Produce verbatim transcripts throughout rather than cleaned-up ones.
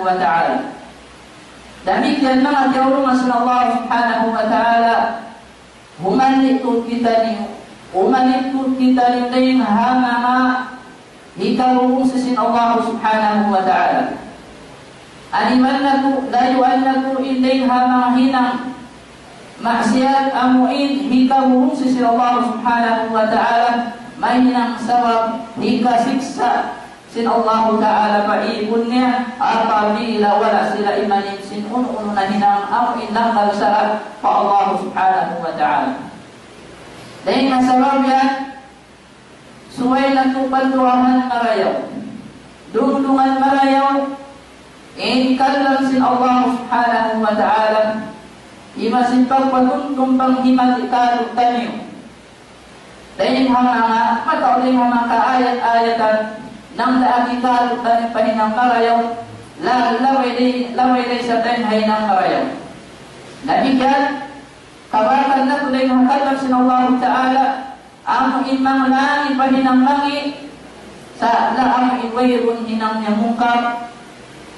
wa ta'ala. Damikkiyan manga kiyaulungan sin Allah subhanahu wa ta'ala, humanit tuud kitaniyu, humanit tuud kitaniyu dayn ha manga hikabubungsi sin Allah subhanahu wa ta'ala. Aniban natu', layuan natu' in dayn ha manga hinang maksiyat amu in hikabubungsi sin Allah subhanahu wa ta'ala, mahinang sabab hikasiksa' sin Allahu Ta'ala pa īpun niya, apabila wala' sila imanin sin unu-unu na hinang amu in langgal sara' pa Allah Subhanahu wa Ta'ala. Dayn ha sabab yan, subay natu' patuahan marayaw, dungdungan marayaw in kalam sin Allah Subhanahu wa Ta'ala, iban sin pagpatumtum panghimati kātu'niyu. Dayn ha manga, mataud dayn ha manga kaayat-ayatan, nang daak hikatu taniyu pa hinang marayaw, la-, labay dayn, labay dayn sa dayn ha hinang marayaw. Damikkiyan, kabatan natu' dayn ha kalam sin Allahu Ta'ala, amu in manglangi pa hinang langi, sa' la amu in wayruun hinang niya mungkar,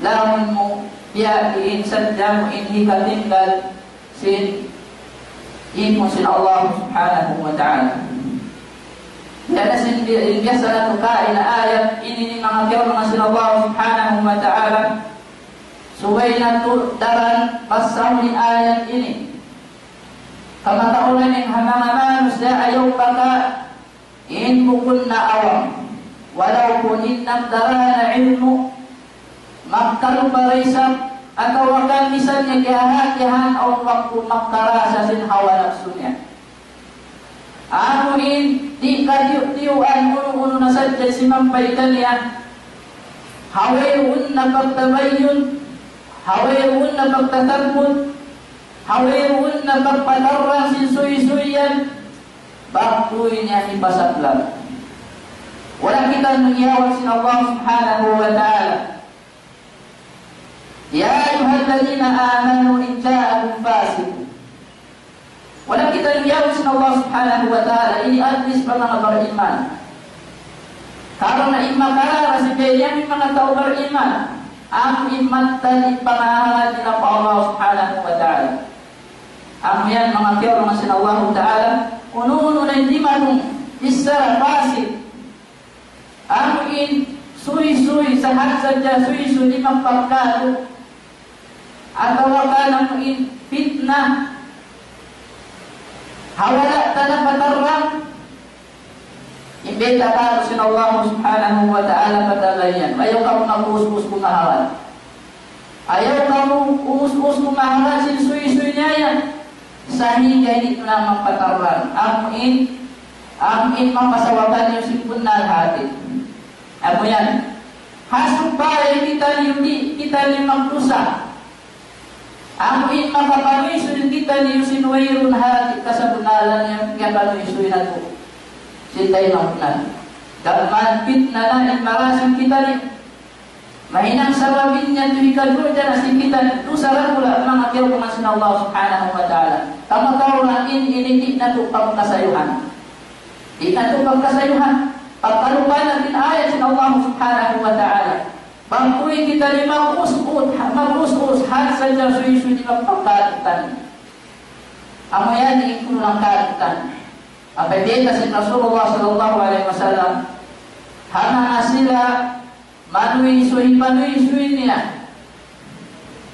laung mu, biya' diin sadja mu in hikatinggal, sin īpun sin Allah Subhanahu wa Ta'ala. Yan na sin bi-, in biyasa natu' kaina ayat ini, in manga kiyaulungan sin Allah Subhanahu wa Ta'ala. Subay natu' daran basahun in ayat ini. Kamatauran in ha manga manusiya' ayaw baka in bukun na awam. Walaupun in nagdara na ilmu', magkalupa da isab, atawa kan misan niya kiyahatihan awn waktu magkarasa sin hawa napsu niya. Amu in di' katiyu'-tiyuan unu-unu na sadja simampay kaniya. Ha wayruun na pagtabayyun, ha wayruun na pagtatabbut, ha wayruun na pagpatarrang sin suysuy yan. Bang tuwi niya hipasaplag. Wala' kita niyawag sin Allah Subhanahu wa Ta'ala. يا أيها الذين آمنوا إن جاءكم فاسق. Wala' kita niyawag sin Allah Subhanahu wa Ta'ala, ini address pa manga bariman. Karna' in makarara sin biya' yan in manga tau bariman, amu in mattan in pangahalan nila pa Allah Subhanahu wa Ta'ala. Amu yan manga kiyaulungan sin Allahu Ta'ala, unu-unu na in dimatung bichara pasik, amu in suysuy, sahat sadja suysuy di' magpagkatu', atawa kan amu in pitna, ha wala' ta napatarrang, in bayta' kamu sin Allah Subhanahu wa Ta'ala pa tau yan. Ayaw kamu mag-us-us kumahalan. Ayaw kamu us-us kumahalan sin suysuy niya yan. Sahingga di' na magpatarrang. Amu in, amu in mapasawakan niyu sin bunnal hati. Amu yan. Ha supaya kitaniyu di', kitaniyu magdusa. Amu in makapanuysuy kitaniyu sin wayruun hati kasabunnalan yan, kiyapanuysuy natu' sin taymanghud natu'. Damikkiyan pitna na in marasing kitaniyu. Mahinang sabab in yan tuwi kadurjana sin kitaniyu, dusa dakula' manga kiyaulungan sin Allah Subhanahu wa Ta'ala. Kamatauran in ini di' natu' pagkasayuhan. Di' natu' pagkasayuhan. Pagkalupa natu' in ayat sin Allah Subhanahu wa Ta'ala. Bang tuwi kitaniyu mag-us-us, mag-us-us, hat sadja suysuy di' magpagkatu' taniyu. Amu yan in kulang katu' taniyu. Apabila sin Rasulullah sallallahu alayhi wasallam, ha manga sila manuysuy, manuysuy niya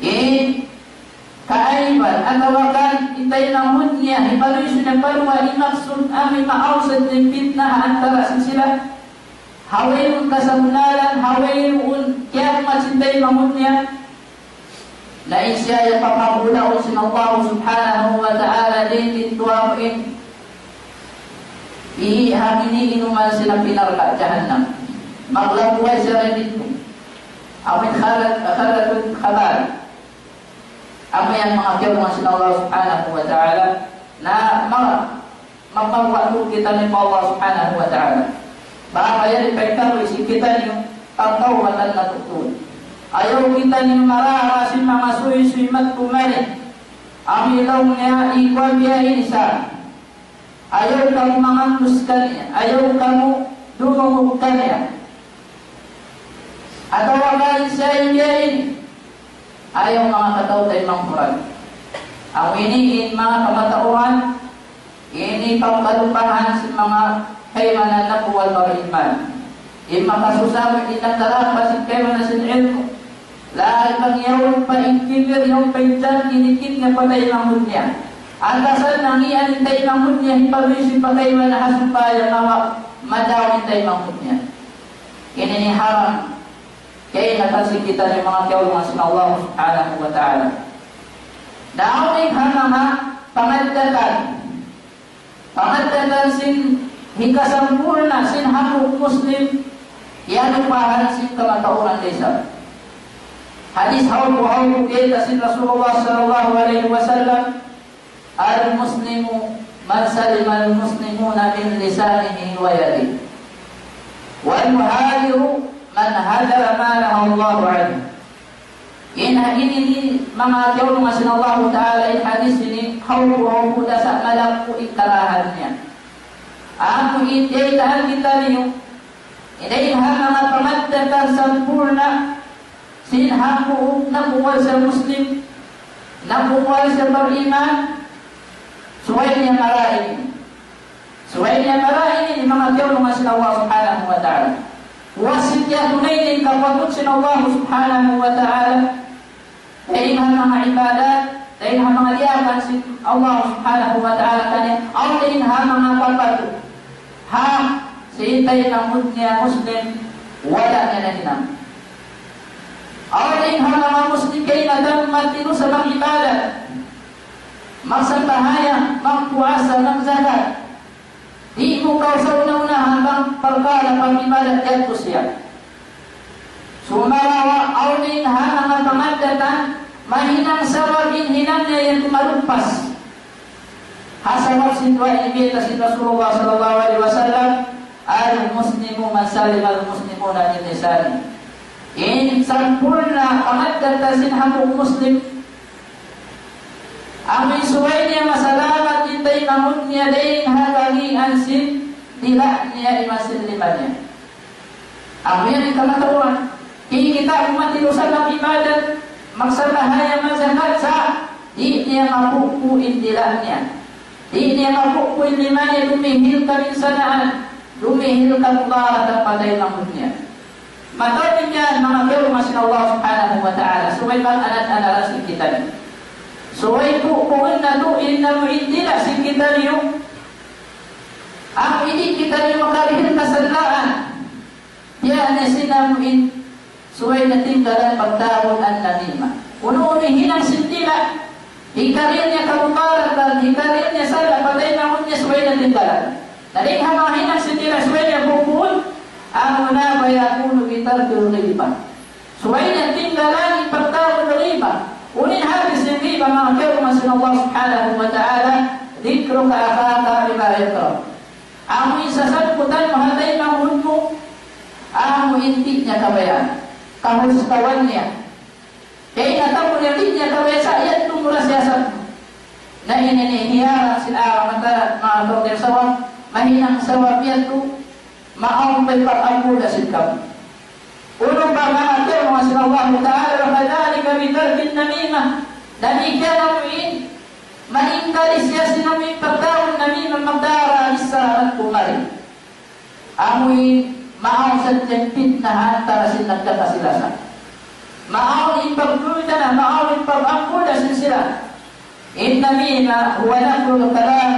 in kaaiban, atawa kan in taymanghud niya, hipanuysuy niya pa duwa, in maksud amu in maawsat in pitna ha antara' sin sila. Ha wayruun kasabunnalan, ha wayruun kiyagmat sin taymanghud niya. Na in siya yan papagulaun sin Allah Subhanahu wa Ta'ala dayn didtu amu in ihi' ha ini inuman sin api narka' jahannam. Maglagguhay siya dayn didtu. Amu in khalat, khalatul khabar. Amu yan manga kiyaulungan sin Allah Subhanahu wa Ta'ala. Na manga mapagwaktu kitaniyu pa Allah Subhanahu wa Ta'ala. Bang yan di' pa ikaw isi kitaniyu, pagtawbatan natu' tuud. Ayaw kitaniyu marara sin manga suysuy magkumari. Amu in laung niya, ikuan biya' ini sa. Ayaw kamu mangandus kaniya. Ayaw kamu dumungug kaniya. Atawa kan sa in biya' ini. Ayaw manga kataw-taymanghuran. Amu ini in manga kamatauran, ini pagkalupahan sin manga kaibanan na kuwal bariman. In makasusa mu in nagdarapat sin kaibanan sin ilmu'. Labi bang yaun pa in kibir, yaun pa in jangki, dikit niya pa taymanghud niya. Atasan nangiyan in taymanghud niya, hipaluy sin pa kaibanan ha supaya mawa, madaw in taymanghud niya. Ini in haram. Kaingatan sin kitaniyu manga kiyaulungan sin Allah Subhanahu wa Ta'ala. Daw in ha manga pangaddatan. Pangaddatan sin hikasampurna' sin hambuuk Muslim, kiyalupahan sin kamatauran da isab. Hadis hawpu-hawpu kita sin Rasulullah sallallahu alayhi wasallam, المسلم من سلم المسلمون من لسانه ويده، والمهاجر من هجر ما نهى الله عنه. In ha ini, manga kiyaulungan sin Allahu Ta'ala, in hadis ini, hawpu-hawpu da sa' malaggu' in karahan niya. Amu in daytaan kitaniyu, in ha manga pangaddatan sampurna', sin hambuuk nagkuwal siya Muslim, nagkuwal siya bariman, subay niya marayaw ini. Subay niya marayaw ini, manga kiyaulungan sin Allah Subhanahu wa Ta'ala. Puas sin kiyatunay niya in kapatut sin Allah Subhanahu wa Ta'ala. Dayn ha manga ibadat, dayn ha manga diyaak sin Allah Subhanahu wa Ta'ala kaniya, awn dayn ha manga kapatut. Ha, sin taymanghud niya Muslim, wala' niya nahinang. Awn dayn ha manga Muslim kaingatan magtinusa mag-ibadat, magsambahayang, magpuasa, magzakat. Di' mu kaw sa una-unahan bang parkala' pag-ibadat yadtu siya. Sumagawa' awn dayn ha manga pangaddatan, mahinang sabab in hinang niya yadtu maluppas. Ha sabab sin duwa ini bayta' sin Rasulullah sallallahu alayhi wasallam, المسلم من سلم المسلمون من لسانه. In sampurna' pangaddatan sin hambuuk Muslim, amu in subay niya masalamat in taymanghud niya dayn ha kagi'an sin dila' niya iban sin lima niya. Amu yan in kamatauran. Di' kita umat in usaha mag-ibadat, magsambahayang, magzakat sa' di' niya mapupu' in dila' niya. Di' niya mapupu' in lima niya, dumihil kabinsanaan, dumihil kamudaratan pa taymanghud niya. Mataud in yan, manga kiyaulungan sin Allah Subhanahu wa Ta'ala. Subay pag-anad-anaran sin kitaniyu. Subay pupuun natu' in amu in dila' sin kitaniyu. Amu in di' kitaniyu makarihil kasadlaan. Biya' na sin amu in subay na tinggalan pagtawagun namimah. Unu-unu in hinang sin dila', hikarihil niya kamudaratan, hikarihil niya sala' pa taymanghud niya, subay na tinggalan. Na dayn ha manga hinang sin dila' subay niya pupuun, amuna فيكون بترك الغيبة. Subay niya tinggalan in pagtawagun riba. Unu in hati sin riba, manga kiyaulungan sin Allah Subhanahu wa Ta'ala, ذكرك أخاك بما يكره. Amu in sasangkutan mu ha taymanghud mu, amu in di' niya kabayaan. Kahustawan niya. Kaingatan mu niya di' niya kabayaan sa' yadtu mura siya sa'. Na ini in hiyarang sin aramata, manga tau sabab, mahinang sabab yadtu, maawn pa in pag-ambuda sin kamu. Unu pa, manga kiyaulungan sin Allah Ta'ala, وكذلك بترك النميمة. Damikkiyan amu in, maingkari siya sin amu in pagtawagun namimah, magdara bichara madtu mari. Amu in, maawn sadja in pitna ha antara sin nagkakasi-lasa. Maawn in pagduyutan, maawn in pag-ambuda sin sila. النميمة هو نقل الكلام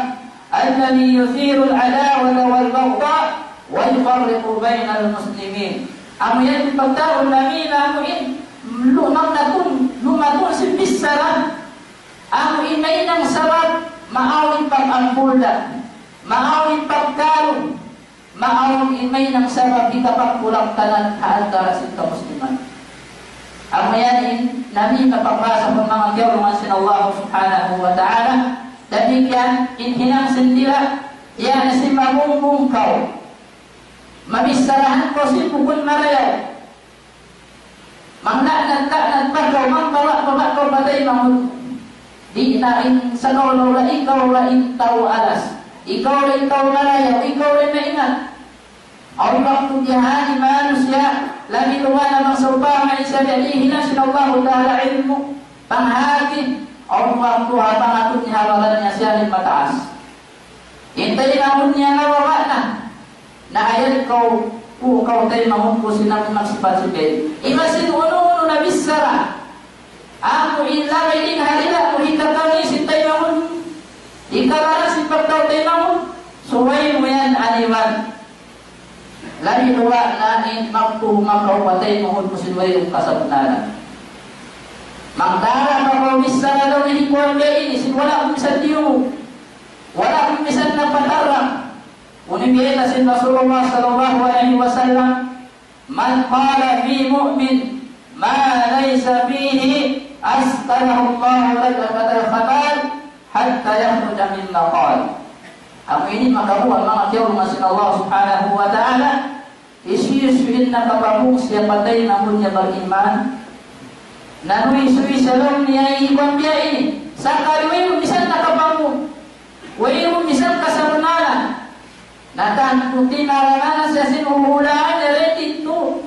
الذي يثير العداوة والبغضاء ويفرق بين المسلمين. Amu yan in pagtawagun namimah, amu in lumang natun, lumatun sin bichara. Amu in mahinang sabab, maawn in pag-ambuda, maawn in pagkalu, maawn in mahinang sabab hikapagkulangtanan ha antara sin kamusliman. Amu yan in namimah pagbahasa sin manga kiyaulungan sin Allah Subhanahu wa Ta'ala. Damikkiyan in hinang sin dila', yan sin mamungbung kaw. Mabicharahan kaw sin bukun marayaw. Mangla'nat-la'nat pa kaw, mangbawa'-bawa' kaw pa taymanghud. Di' na in sagawa' ikaw ra in tau alas. Ikaw ra in tau marayaw, ikaw ra in maingat. Awn waktu biya' ha yan in manusiya', Labi luba' na bang sawpama in siya biya' dihilan sin Allahu Ta'ala ilmu', panghati, awn waktu ha pangatud niya ha baran niya siya in mataas. In taymanghud niya nababa' na. Na ayad kaw, uu kaw taymanghud ku sin amu in magsipat-sipat. Iban sin unu-unu na bichara. Amu in labi dayn ha dila' mu hikakami sin taymanghud. Hikakami sin pagkaw taymanghud. Subay mu yan aniban. Labi luba' na in magtuhuma kaw pa taymanghud mu sin wayruun kasabunnalan. Magdara pa kaw bichara daw na hikuwan biya' ini, sin wala' mu misan diyungug. Wala' mu misan napatarrang. Unu in bayta' sin Rasulullah sallallahu alayhi wasallam, من قال في مؤمن ما ليس فيه أسكنه الله لدغة الخبال حتى يخرج مما قال. Amu ini makaruwa manga kiyaulungan sin Allah Subhanahu wa Ta'ala, hisiyu-siyu in nakapamung siya pa taymanghud niya bag-iman, na nuysuy sa laung niya in kuwan biya' ini, sakali wayruun misan nakapamung, wayruun misan kasabunnalan, na tantu tinarangan siya sin huhulaan niya dayn didtu.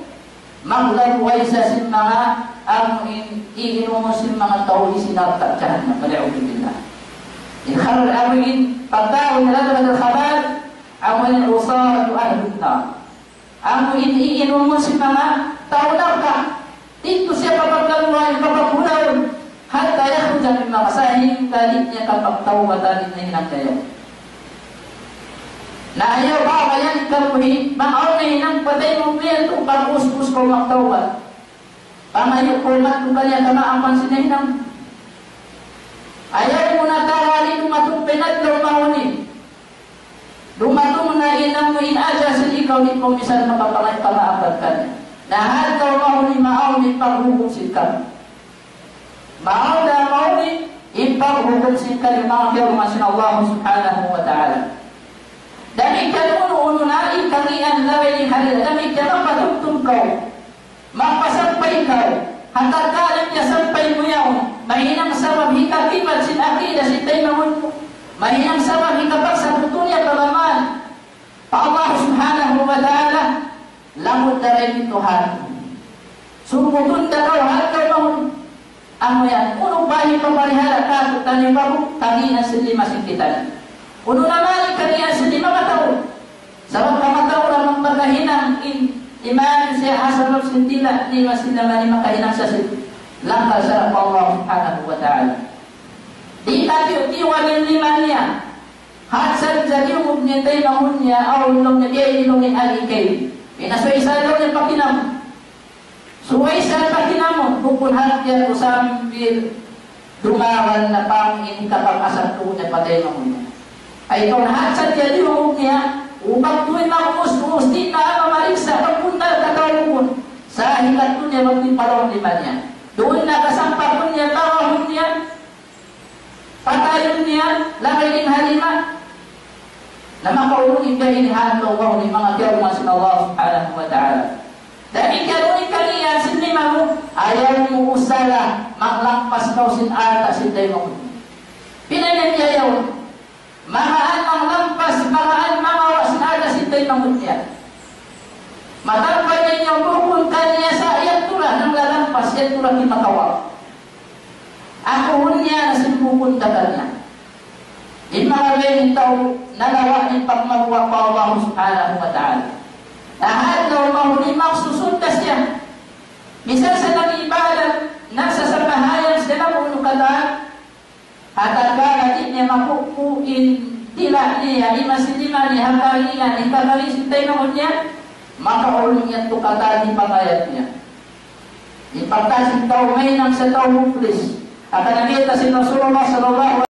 Maglagguway siya sin manga amu in iinumun sin manga tau sin narka' jahannam. والعياذ بالله. In khabar amu in pagkaun niya لدغة الخبال, amu in عصارة أهل النار. Amu in iinumun sin manga tau narka'. Didtu siya papaglagguwaun, papaghulaun. حتى يخرج مما قال, sahingga di' niya kapagtawbatan in nahinang niya. Na ayaw ba yan kamuhi, bang awn nahinang pa taymanghud mu yadtu, pag-usbus kaw magtawbat. Pangayu' kaw madtu kaniya kamaapan sin nahinang. Ayaw mu na tawali dumatung pa in adlaw mahuli. Dumatung na in amu in ajal sin ikaw di' kaw misan makapangay pamaapan kaniya. Na ha adlaw mahuli maawn in paghukum sin kamu. Maawn na mahuli in paghukum sin kamu manga kiyaulungan sin Allah Subhanahu wa Ta'ala. Damikkiyan unu-unu na in kangīan labi dayn ha dila, damikkiyan mapatumtum kaw. Magpasampay kaw, ha tatkala niya sampay mu yaun, mahinang sabab hikakibal sin akida sin taymanghud mu, mahinang sabab hikapagsabutu niya pag-amal pa Allah Subhanahu wa Ta'ala, lamud na dayn didtu ha. Sumbutun da kaw ha adlaw mahuli. Amu yan, unu pa in hipaparihala kātu'niyu bang kangīan sin lima sin kitaniyu? Unu na man in kangīan sin lima mataud? Sabab kamatauran magpakahinang in iman siya ha sabab sin dila' niya, sin lima niya makahinang siya sin langkal sara' pa Allah Subhanahu wa Ta'ala. Di' katiyu'-tiyuan in lima niya. Hat sadja diyungug niya in taymanghud niya, awn laung niya, biya' ini laung niya in agi kaymu. Inasuy sa laung niya pakinam. Subay sa pakinam, bukun hat yan mu sambil dumagan na pang in kapag-asal tuud niya pa taymanghud niya. Ay kaw na hat sadja diyungug niya, ubag tuud mag-us-us, di' na mamariksa', pagpunta ka tau bukun. Sa' hikatu niya magtimpalaw lima niya. Duun na kasampakun niya, tawahun niya, patayun niya, labi dayn ha lima. Na makaulung in biya' ini ha adlaw mahuli manga kiyaulungan sin Allah Subhanahu wa Ta'ala. Damikkiyan unu in kangīan sin lima mu, ayaw mu usala, maglampas kaw sin alta' sin taymanghud mu. Pinain niya ayaw. Magaan maglampas, magaan mangawa' sin alta' sin taymanghud niya. Matambal niya bukun kaniya sa' yadtu ra nanglalampas, yadtu ra di' makawa'. Aku hun niya na sin bukun da kaniya. In manga biya' ini tau nalawa' in pagmabuga' pa Allah Subhanahu wa Ta'ala. Na ha adlaw mahuli magsusud da siya. Misan sa nag-ibadat, nagsasambahayang siya na kunu' katan, ha tatkala di' niya makuku' in dila' niya, lima sin lima niya, ha kangīan, in kangīan sin taymanghud niya, makaulung niya tu katan in pangayat niya. In pagtaas sin tau, mahinang siya tau muflis. Hangkan na bayta' sin Rasulullah sallallahu